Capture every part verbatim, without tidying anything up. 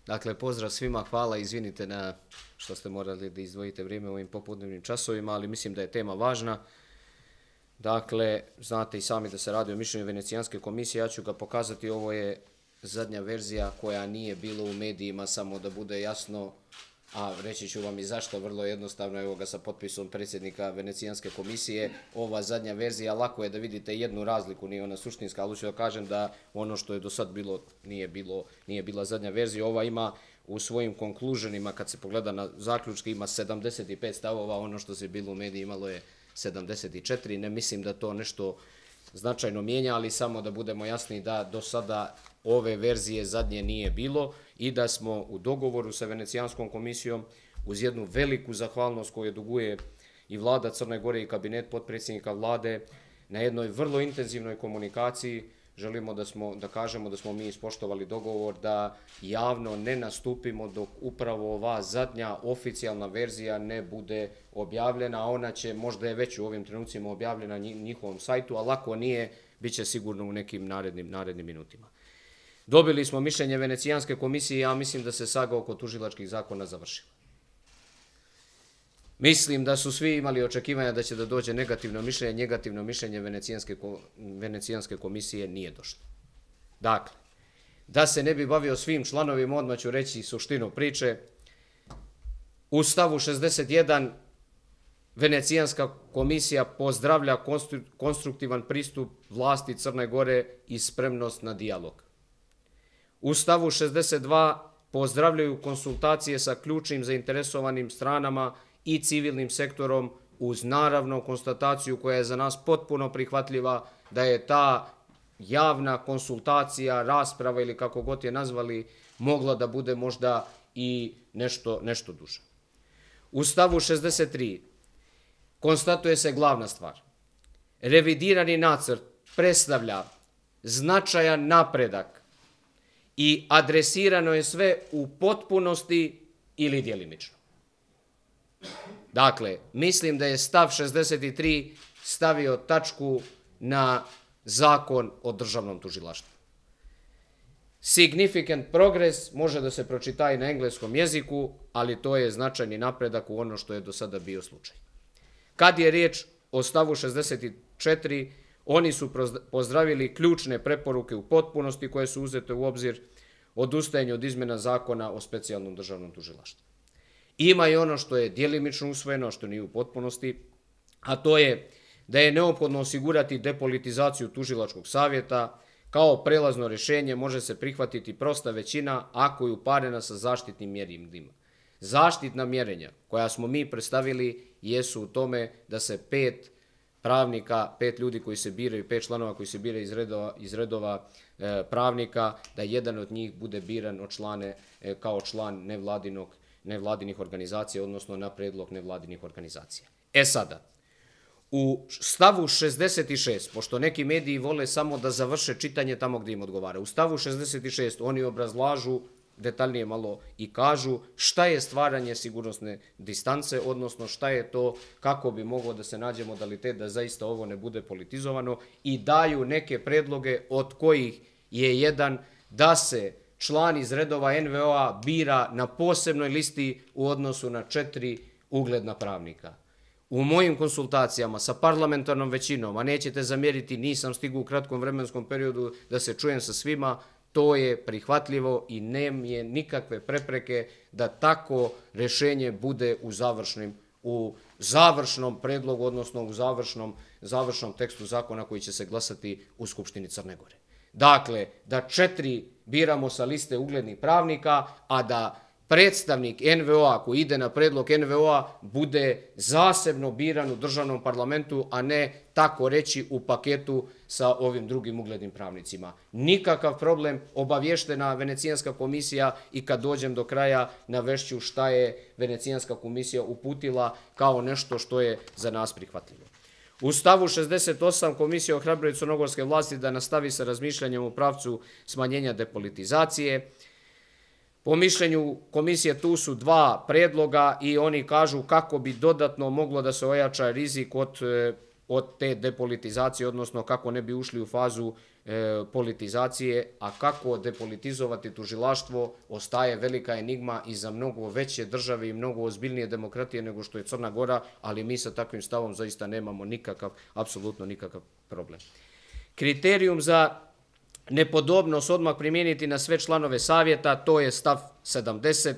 Dakle, pozdrav svima, hvala, izvinite na što ste morali da izdvojite vrijeme u ovim popodnevnim časovima, ali mislim da je tema važna. Dakle, znate i sami da se radi o mišljenju Venecijanske komisije, ja ću ga pokazati, ovo je zadnja verzija koja nije bilo u medijima, samo da bude jasno, a reći ću vam i zašto, vrlo jednostavno, evo ga sa potpisom predsjednika Venecijanske komisije, ova zadnja verzija, lako je da vidite jednu razliku, nije ona suštinska, ali ću da kažem da ono što je do sad bilo, nije bilo, nije bila zadnja verzija, ova ima u svojim konkluženima, kad se pogleda na zaključke, ima sedamdeset pet stavova, ono što se bilo u mediji imalo je sedamdeset četiri, ne mislim da to nešto značajno mijenja, ali samo da budemo jasni da do sada ove verzije zadnje nije bilo i da smo u dogovoru sa Venecijanskom komisijom uz jednu veliku zahvalnost koju duguje i vlada Crne Gore i kabinet potpredsjednika vlade na jednoj vrlo intenzivnoj komunikaciji. Želimo da, smo, da kažemo da smo mi ispoštovali dogovor da javno ne nastupimo dok upravo ova zadnja oficijalna verzija ne bude objavljena, a ona će, možda je već u ovim trenucima objavljena na njihovom sajtu, ali ako nije, bit će sigurno u nekim narednim, narednim minutima. Dobili smo mišljenje Venecijanske komisije, ja mislim da se saga oko tužilačkih zakona završila. Mislim da su svi imali očekivanja da će da dođe negativno mišljenje, negativno mišljenje Venecijanske, Venecijanske komisije nije došlo. Dakle, da se ne bi bavio svim članovima, odmah ću reći suštinu priče. U stavu šezdeset jedan Venecijanska komisija pozdravlja konstruktivan pristup vlasti Crne Gore i spremnost na dijalog. U stavu šezdeset dva pozdravljaju konsultacije sa ključnim zainteresovanim stranama i civilnim sektorom uz naravno konstataciju koja je za nas potpuno prihvatljiva da je ta javna konsultacija, rasprava ili kako god je nazvali, mogla da bude možda i nešto, nešto duže. U stavu šezdeset tri konstatuje se glavna stvar. Revidirani nacrt predstavlja značajan napredak i adresirano je sve u potpunosti ili djelimično. Dakle, mislim da je stav šezdeset tri stavio tačku na zakon o državnom tužilaštvu. Significant progress može da se pročita i na engleskom jeziku, ali to je značajni napredak u ono što je do sada bio slučaj. Kad je riječ o stavu šezdeset četiri, oni su pozdravili ključne preporuke u potpunosti koje su uzete u obzir odustajanju od izmjena zakona o specijalnom državnom tužilaštvu. Ima i ono što je djelimično usvojeno, što nije u potpunosti, a to je da je neophodno osigurati depolitizaciju tužilačkog savjeta. Kao prelazno rješenje može se prihvatiti prosta većina ako je uparena sa zaštitnim mjerenjima. Zaštitna mjerenja koja smo mi predstavili jesu u tome da se pet pravnika, pet ljudi koji se biraju, pet članova koji se biraju iz redova, iz redova e, pravnika, da jedan od njih bude biran od člane, e, kao član nevladinog nevladinih organizacija, odnosno na predlog nevladinih organizacija. E sada, u stavu šezdeset šest, pošto neki mediji vole samo da završe čitanje tamo gdje im odgovara, u stavu šezdeset šest oni obrazlažu detaljnije malo i kažu šta je stvaranje sigurnosne distance, odnosno šta je to, kako bi moglo da se nađe modalitet da zaista ovo ne bude politizovano i daju neke predloge od kojih je jedan da se član iz redova en ve o-a bira na posebnoj listi u odnosu na četiri ugledna pravnika. U mojim konsultacijama sa parlamentarnom većinom, a nećete zamjeriti, nisam stigao u kratkom vremenskom periodu da se čujem sa svima, to je prihvatljivo i nema je nikakve prepreke da tako rješenje bude u završnim, u završnom predlogu, odnosno u završnom, završnom tekstu zakona koji će se glasati u Skupštini Crne Gore. Dakle, da četiri biramo sa liste uglednih pravnika, a da predstavnik en ve o-a koji ide na predlog en ve o-a bude zasebno biran u državnom parlamentu, a ne tako reći u paketu sa ovim drugim uglednim pravnicima. Nikakav problem, obavještena Venecijanska komisija i kad dođem do kraja navešću šta je Venecijanska komisija uputila kao nešto što je za nas prihvatljivo. U stavu šezdeset osam komisija ohrabruje crnogorske vlasti da nastavi sa razmišljanjem u pravcu smanjenja depolitizacije. Po mišljenju komisije tu su dva predloga i oni kažu kako bi dodatno moglo da se ojača rizik od, od te depolitizacije, odnosno kako ne bi ušli u fazu politizacije, a kako depolitizovati tužilaštvo ostaje velika enigma i za mnogo veće države i mnogo ozbiljnije demokratije nego što je Crna Gora, ali mi sa takvim stavom zaista nemamo nikakav, apsolutno nikakav problem. Kriterijum za nepodobnost odmah primijeniti na sve članove savjeta, to je stav sedamdeset,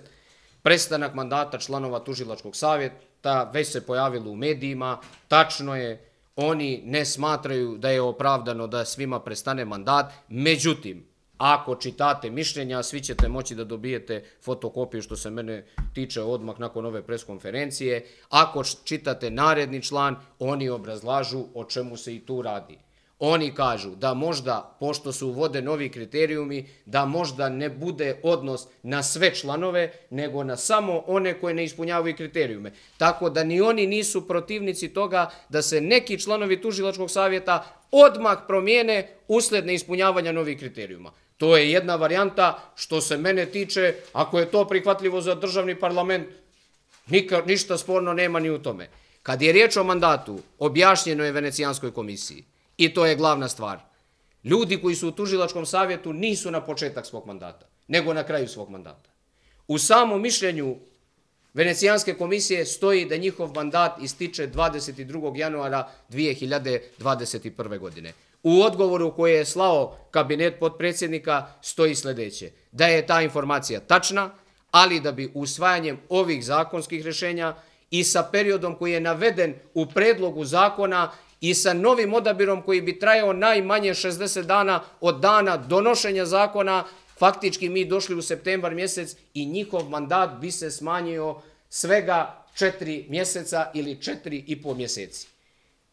prestanak mandata članova tužilačkog savjeta, već se pojavilo u medijima, tačno je, oni ne smatraju da je opravdano da svima prestane mandat, međutim, ako čitate mišljenja, svi ćete moći da dobijete fotokopiju što se mene tiče odmah nakon ove preskonferencije, ako čitate naredni član, oni obrazlažu o čemu se i tu radi. Oni kažu da možda, pošto se uvode novi kriterijumi, da možda ne bude odnos na sve članove, nego na samo one koje ne ispunjavaju kriterijume. Tako da ni oni nisu protivnici toga da se neki članovi tužilačkog savjeta odmah promijene usled neispunjavanja novih kriterijuma. To je jedna varijanta što se mene tiče, ako je to prihvatljivo za državni parlament, ništa sporno nema ni u tome. Kad je riječ o mandatu, objašnjeno je Venecijanskoj komisiji. I to je glavna stvar. Ljudi koji su u tužilačkom savjetu nisu na početak svog mandata, nego na kraju svog mandata. U samom mišljenju Venecijanske komisije stoji da njihov mandat ističe dvadeset drugog januara dvije hiljade dvadeset prve. godine. U odgovoru koji je slao kabinet potpredsjednika stoji sljedeće, da je ta informacija tačna, ali da bi usvajanjem ovih zakonskih rješenja i sa periodom koji je naveden u predlogu zakona i sa novim odabirom koji bi trajao najmanje šezdeset dana od dana donošenja zakona, faktički mi došli u septembar mjesec i njihov mandat bi se smanjio svega četiri mjeseca ili četiri i po mjeseci.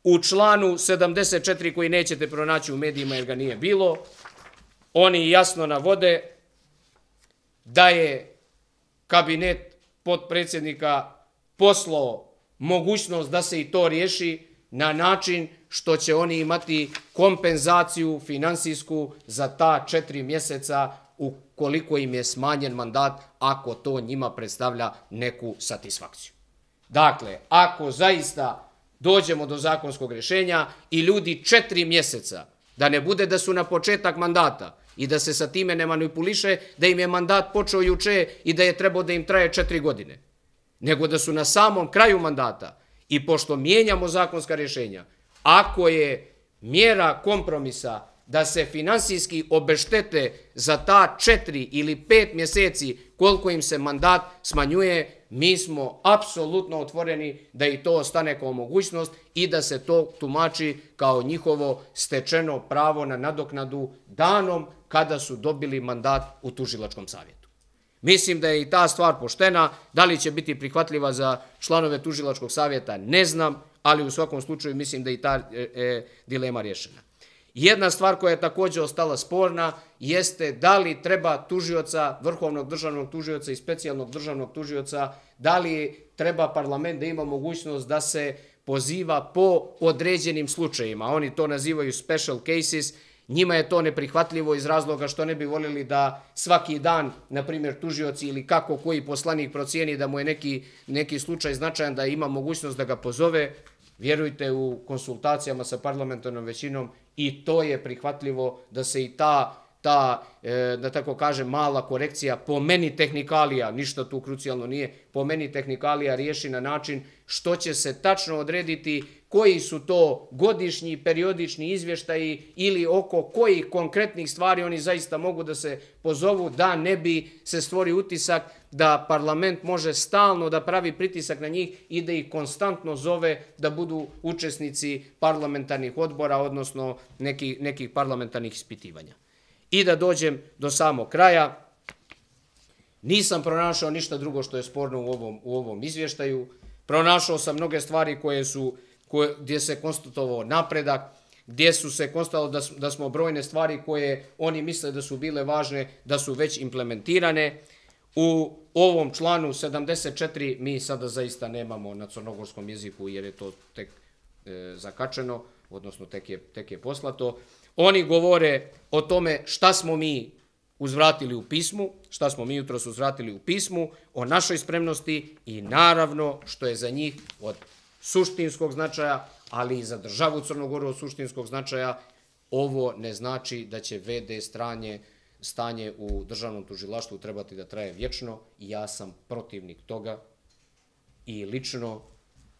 U članu sedamdeset četiri koji nećete pronaći u medijima jer ga nije bilo, oni jasno navode da je kabinet potpredsjednika poslao mogućnost da se i to riješi na način što će oni imati kompenzaciju finansijsku za ta četiri mjeseca ukoliko im je smanjen mandat, ako to njima predstavlja neku satisfakciju. Dakle, ako zaista dođemo do zakonskog rješenja i ljudi četiri mjeseca, da ne bude da su na početak mandata i da se sa time ne manipuliše, da im je mandat počeo juče i da je trebao da im traje četiri godine, nego da su na samom kraju mandata. I pošto mijenjamo zakonska rješenja, ako je mjera kompromisa da se finansijski obeštete za ta četiri ili pet mjeseci koliko im se mandat smanjuje, mi smo apsolutno otvoreni da i to ostane kao mogućnost i da se to tumači kao njihovo stečeno pravo na nadoknadu danom kada su dobili mandat u tužilačkom savjetu. Mislim da je i ta stvar poštena, da li će biti prihvatljiva za članove tužilačkog savjeta, ne znam, ali u svakom slučaju mislim da je i ta e, e, dilema rješena. Jedna stvar koja je također ostala sporna jeste da li treba tužioca, vrhovnog državnog tužioca i specijalnog državnog tužioca, da li treba parlament da ima mogućnost da se poziva po određenim slučajima. Oni to nazivaju special cases. Njima je to neprihvatljivo iz razloga što ne bi voljeli da svaki dan, na primjer, tužioci ili kako koji poslanik procijeni da mu je neki, neki slučaj značajan, da ima mogućnost da ga pozove. Vjerujte, u konsultacijama sa parlamentarnom većinom i to je prihvatljivo da se i ta, ta e, da tako kažem, mala korekcija, po meni tehnikalija, ništa tu krucijalno nije, po meni tehnikalija riješi na način što će se tačno odrediti koji su to godišnji, periodični izvještaji ili oko kojih konkretnih stvari oni zaista mogu da se pozovu, da ne bi se stvori utisak da parlament može stalno da pravi pritisak na njih i da ih konstantno zove da budu učesnici parlamentarnih odbora, odnosno nekih, nekih parlamentarnih ispitivanja. I da dođem do samog kraja, nisam pronašao ništa drugo što je sporno u ovom, u ovom izvještaju. Pronašao sam mnoge stvari koje su, koje, gdje se konstatovao napredak, gdje su se konstatovalo da, da smo brojne stvari koje oni misle da su bile važne, da su već implementirane. U ovom članu sedamdeset četiri mi sada zaista nemamo na crnogorskom jeziku jer je to tek e, zakačeno, odnosno tek je, tek je poslato. Oni govore o tome šta smo mi uzvratili u pismu, šta smo mi jutros uzvratili u pismu, o našoj spremnosti i naravno što je za njih od suštinskog značaja, ali i za državu Crnogoru od suštinskog značaja, ovo ne znači da će ve de stranje, stanje u državnom tužilaštvu trebati da traje vječno i ja sam protivnik toga i lično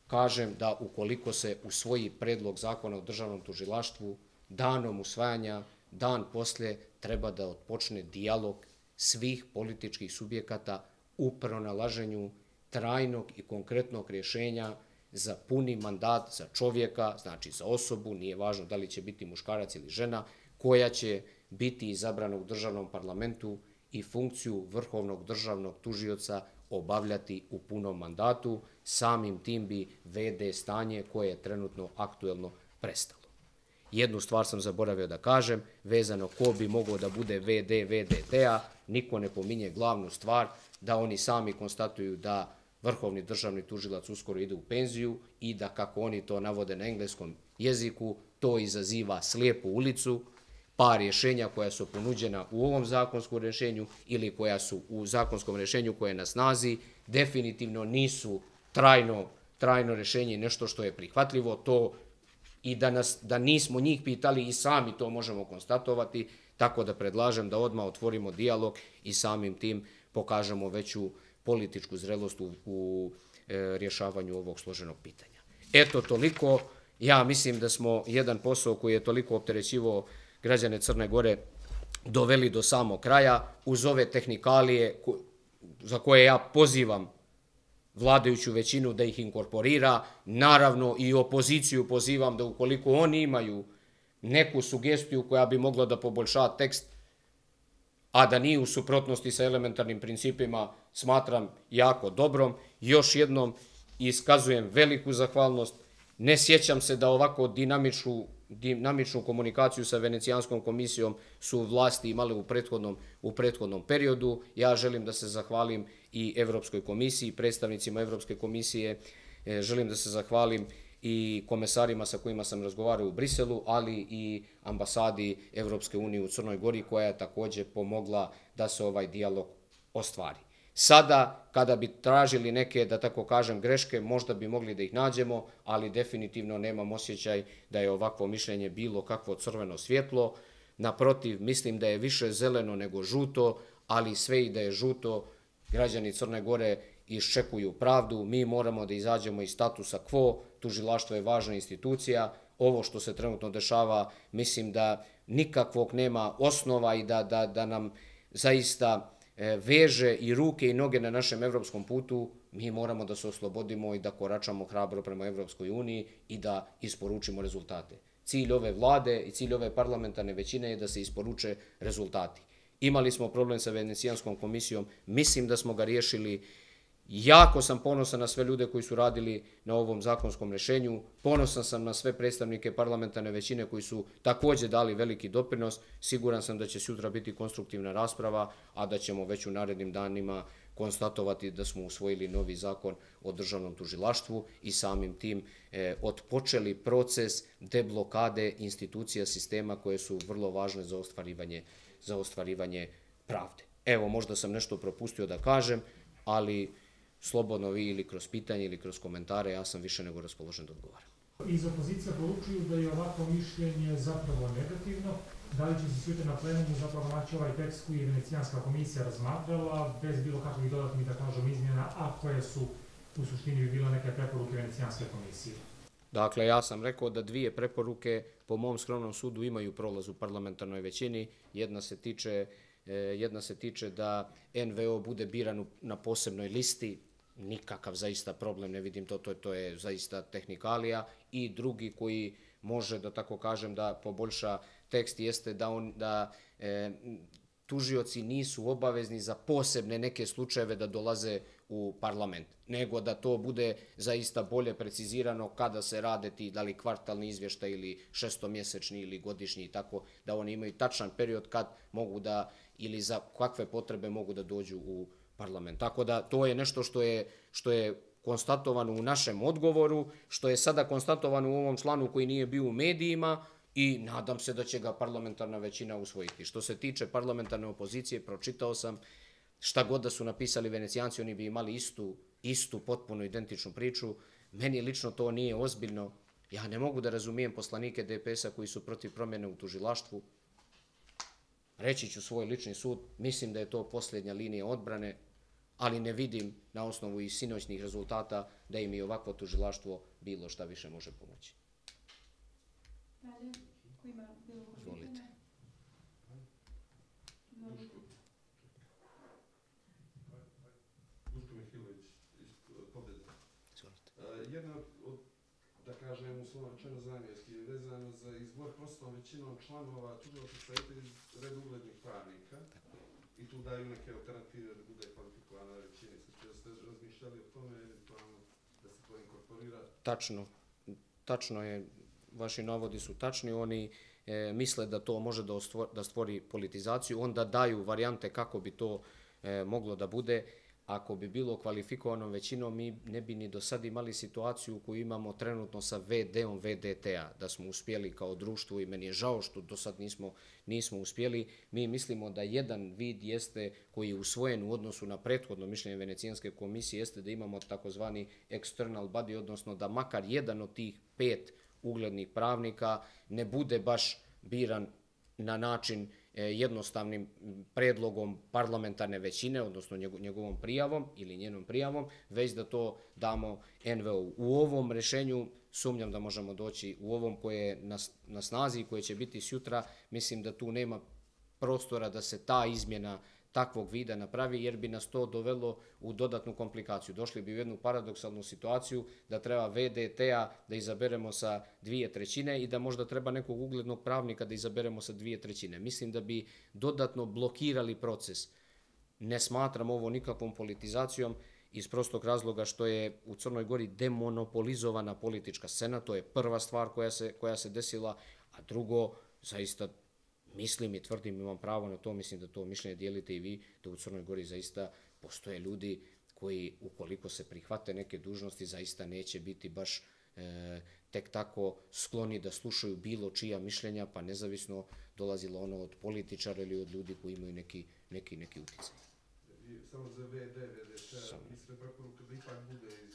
kažem da ukoliko se usvoji predlog zakona o državnom tužilaštvu, danom usvajanja, dan poslije treba da otpočne dijalog svih političkih subjekata u pronalaženju trajnog i konkretnog rješenja za puni mandat za čovjeka, znači za osobu, nije važno da li će biti muškarac ili žena, koja će biti izabrana u državnom parlamentu i funkciju vrhovnog državnog tužioca obavljati u punom mandatu, samim tim bi ve de stanje koje je trenutno aktuelno prestalo. Jednu stvar sam zaboravio da kažem, vezano ko bi mogao da bude ve de ve de te-a, niko ne pominje glavnu stvar, da oni sami konstatuju da vrhovni državni tužilac uskoro ide u penziju i da, kako oni to navode na engleskom jeziku, to izaziva slijepu ulicu, pa rješenja koja su ponuđena u ovom zakonskom rješenju ili koja su u zakonskom rješenju koje je na snazi, definitivno nisu trajno, trajno rješenje, nešto što je prihvatljivo, to i da, nas, da nismo njih pitali i sami to možemo konstatovati, tako da predlažem da odmah otvorimo dijalog i samim tim pokažemo veću političku zrelost u, u e, rješavanju ovog složenog pitanja. Eto, toliko. Ja mislim da smo jedan posao koji je toliko opterećivao građane Crne Gore doveli do samog kraja, uz ove tehnikalije ko, za koje ja pozivam vladajuću većinu da ih inkorporira, naravno i opoziciju pozivam da ukoliko oni imaju neku sugestiju koja bi mogla da poboljša tekst, a da nije u suprotnosti sa elementarnim principima, smatram jako dobrom. Još jednom iskazujem veliku zahvalnost. Ne sjećam se da ovako dinamičnu, dinamičnu komunikaciju sa Venecijanskom komisijom su vlasti imale u prethodnom, u prethodnom periodu. Ja želim da se zahvalim i Evropskoj komisiji, predstavnicima Evropske komisije, želim da se zahvalim i komesarima sa kojima sam razgovarao u Briselu, ali i ambasadi Evropske unije u Crnoj Gori, koja je također pomogla da se ovaj dijalog ostvari. Sada, kada bi tražili neke, da tako kažem, greške, možda bi mogli da ih nađemo, ali definitivno nemam osjećaj da je ovakvo mišljenje bilo kakvo crveno svjetlo. Naprotiv, mislim da je više zeleno nego žuto, ali sve i da je žuto, građani Crne Gore iščekuju pravdu, mi moramo da izađemo iz statusa quo, tužilaštvo je važna institucija, ovo što se trenutno dešava, mislim da nikakvog nema osnova i da, da, da nam zaista veže i ruke i noge na našem evropskom putu, mi moramo da se oslobodimo i da koračamo hrabro prema Evropskoj uniji i da isporučimo rezultate. Cilj ove vlade i cilj ove parlamentarne većine je da se isporuče rezultati. Imali smo problem sa Venecijanskom komisijom, mislim da smo ga riješili. Jako sam ponosan na sve ljude koji su radili na ovom zakonskom rješenju, ponosan sam na sve predstavnike parlamentarne većine koji su također dali veliki doprinos, siguran sam da će sutra biti konstruktivna rasprava, a da ćemo već u narednim danima konstatovati da smo usvojili novi zakon o državnom tužilaštvu i samim tim e, otpočeli proces deblokade institucija sistema koje su vrlo važne za ostvarivanje, za ostvarivanje pravde. Evo, možda sam nešto propustio da kažem, ali slobodno vi ili kroz pitanje ili kroz komentare, ja sam više nego raspoložen da odgovaram. Iz opozicija poručuju da je ovako mišljenje zapravo negativno. Da li će se sutra na plenumu zapravo naći ovaj tekst koji je Venecijanska komisija razmatrala, bez bilo kakvih dodatnih, da kažem, izmjena, a koje su u suštini bi bile neke preporuke Venecijanske komisije? Dakle, ja sam rekao da dvije preporuke po mom skromnom sudu imaju prolaz u parlamentarnoj većini. Jedna se tiče, jedna se tiče da en ve o bude biran na posebnoj listi, nikakav zaista problem, ne vidim to, to, to je zaista tehnikalija, i drugi koji može, da tako kažem, da poboljša tekst jeste da, on, da e, tužioci nisu obavezni za posebne neke slučajeve da dolaze u parlament, nego da to bude zaista bolje precizirano kada se rade ti, da li kvartalni izvještaj ili šestomjesečni ili godišnji, tako da oni imaju tačan period kad mogu da, ili za kakve potrebe mogu da dođu u parlament. Tako da to je nešto što je, što je konstatovano u našem odgovoru, što je sada konstatovano u ovom članu koji nije bio u medijima i nadam se da će ga parlamentarna većina usvojiti. Što se tiče parlamentarne opozicije, pročitao sam šta god da su napisali Venecijanci, oni bi imali istu, istu potpuno identičnu priču. Meni lično to nije ozbiljno. Ja ne mogu da razumijem poslanike D P S-a koji su protiv promjene u tužilaštvu. Reći ću svoj lični sud, mislim da je to posljednja linija odbrane, ali ne vidim na osnovu i sinoćnih rezultata da im i ovakvo tužilaštvo bilo šta više može pomoći. Dalje, ko ima bilo ko pitanje? Duško Mihilović iz Pobjede. Jedna od, da kažem, uslovno rečeno zamjenski je vezano za izbor prostom većinom članova tužilačkog savjeta iz reda uglednih pravnika. I tu daju neke alternative da bude kvalifikovana većina. Da ste razmišljali o tome, eventualno da se to inkorporira? Tačno. Tačno je, vaši navodi su tačni. Oni e, misle da to može da, ostvor, da stvori politizaciju. Onda daju varijante kako bi to e, moglo da bude. Ako bi bilo kvalifikovanom većinom, mi ne bi ni do sad imali situaciju koju imamo trenutno sa V D-om V D T-a, da smo uspjeli kao društvo i meni je žao što do sad nismo, nismo uspjeli. Mi mislimo da jedan vid jeste koji je usvojen u odnosu na prethodno mišljenje Venecijanske komisije jeste da imamo takozvani external body, odnosno da makar jedan od tih pet uglednih pravnika ne bude baš biran na način jednostavnim predlogom parlamentarne većine, odnosno njegovom prijavom ili njenom prijavom, već da to damo N V O-u. U ovom rešenju sumnjam da možemo doći, u ovom koje je na, na snazi i koje će biti sutra, mislim da tu nema prostora da se ta izmjena takvog vida napravi, jer bi nas to dovelo u dodatnu komplikaciju. Došli bi u jednu paradoksalnu situaciju da treba V D T-a da izaberemo sa dvije trećine i da možda treba nekog uglednog pravnika da izaberemo sa dvije trećine. Mislim da bi dodatno blokirali proces. Ne smatram ovo nikakvom politizacijom iz prostog razloga što je u Crnoj Gori demonopolizovana politička scena. To je prva stvar koja se, koja se desila, a drugo, zaista mislim i tvrdim, imam pravo na to, mislim da to mišljenje dijelite i vi, da u Crnoj Gori zaista postoje ljudi koji, ukoliko se prihvate neke dužnosti, zaista neće biti baš e, tek tako skloni da slušaju bilo čija mišljenja, pa nezavisno dolazilo ono od političara ili od ljudi koji imaju neki, neki, neki uticaj. Samo za V D, V D T, mislim preporuka da ipak bude iz...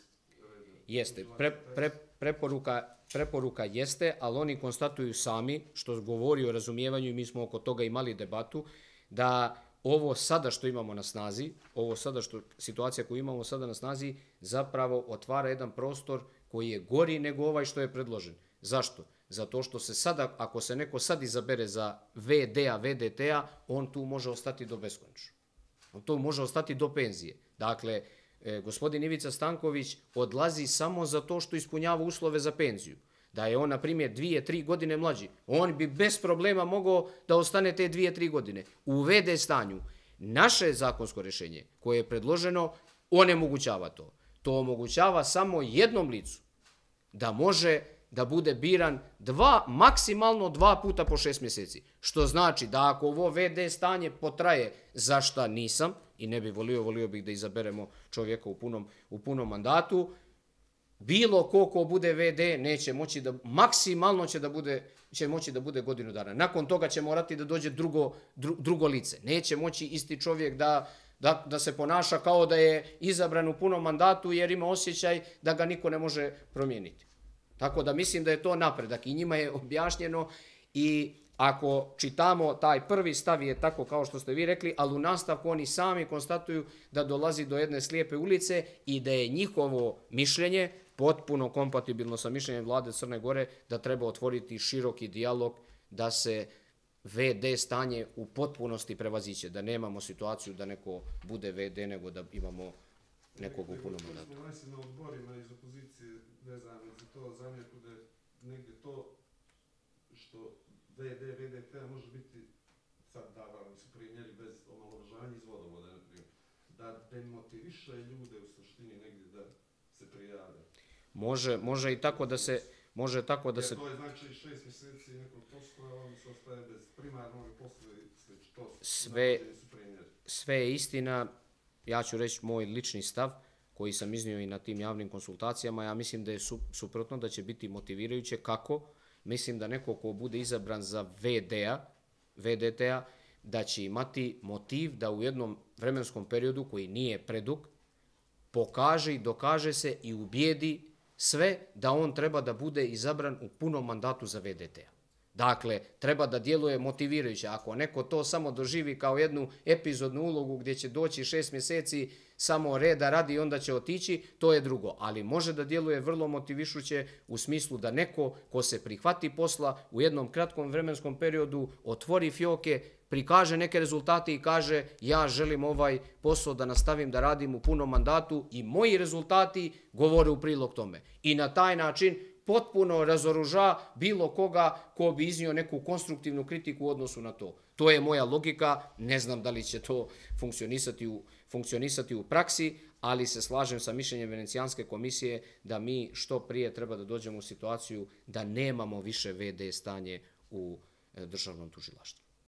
Jeste, pre, pre, preporuka, preporuka jeste, ali oni konstatuju sami, što govori o razumijevanju i mi smo oko toga imali debatu, da ovo sada što imamo na snazi, ovo sada što, situacija koju imamo sada na snazi, zapravo otvara jedan prostor koji je gori nego ovaj što je predložen. Zašto? Zato što se sada, ako se neko sad izabere za V D-a, V D T-a, on tu može ostati do beskonačno. On tu može ostati do penzije. Dakle, E, gospodin Ivica Stanković odlazi samo za to što ispunjava uslove za penziju. Da je on, na primjer, dvije, tri godine mlađi, on bi bez problema mogao da ostane te dvije, tri godine. U V D stanju naše zakonsko rješenje koje je predloženo onemogućava to. To omogućava samo jednom licu da može da bude biran dva, maksimalno dva puta po šest mjeseci. Što znači da ako ovo V D stanje potraje, za šta nisam, i ne bi volio, volio bih da izaberemo čovjeka u punom, u punom mandatu, bilo ko ko bude V D neće moći da, maksimalno će da bude, će moći da bude godinu dana. Nakon toga će morati da dođe drugo, dru, drugo lice. Neće moći isti čovjek da, da, da se ponaša kao da je izabran u punom mandatu jer ima osjećaj da ga niko ne može promijeniti. Tako da mislim da je to napredak i njima je objašnjeno i ako čitamo taj prvi stav je tako kao što ste vi rekli, ali u nastavku oni sami konstatuju da dolazi do jedne slijepe ulice i da je njihovo mišljenje potpuno kompatibilno sa mišljenjem vlade Crne Gore da treba otvoriti široki dijalog da se V D stanje u potpunosti prevaziće, da nemamo situaciju da neko bude V D nego da imamo nekog u punom mandatu. Smo vasi na odborima iz opozicije vezano za to zamjerku da je negdje to što V D, V D T može biti, sad davali su primjeri bez omalovažavanja iz vodovoda, naprimjer, da demotiviše ljude u suštini negdje da se prijave. Može, može i tako da se... Može tako da jer se... to je znači šest mjeseci nekog posla, oni se ostaje bez primarnog posla i slično. To sve, sve je istina, ja ću reći moj lični stav, koji sam iznio i na tim javnim konsultacijama, ja mislim da je su, suprotno, da će biti motivirajuće. Kako? Mislim da neko ko bude izabran za V D-a, V D T-a, da će imati motiv da u jednom vremenskom periodu koji nije predug, pokaže i dokaže se i ubijedi sve da on treba da bude izabran u punom mandatu za ve de te-a. Dakle, treba da djeluje motivirajuće. Ako neko to samo doživi kao jednu epizodnu ulogu gdje će doći šest mjeseci samo reda radi i onda će otići, to je drugo. Ali može da djeluje vrlo motivišuće u smislu da neko ko se prihvati posla u jednom kratkom vremenskom periodu otvori fioke, prikaže neke rezultate i kaže ja želim ovaj posao da nastavim da radim u punom mandatu i moji rezultati govore u prilog tome. I na taj način potpuno razoruža bilo koga ko bi iznio neku konstruktivnu kritiku u odnosu na to. To je moja logika, ne znam da li će to funkcionisati u, funkcionisati u praksi, ali se slažem sa mišljenjem Venecijanske komisije da mi što prije treba da dođemo u situaciju da nemamo više ve de stanje u državnom tužilaštvu.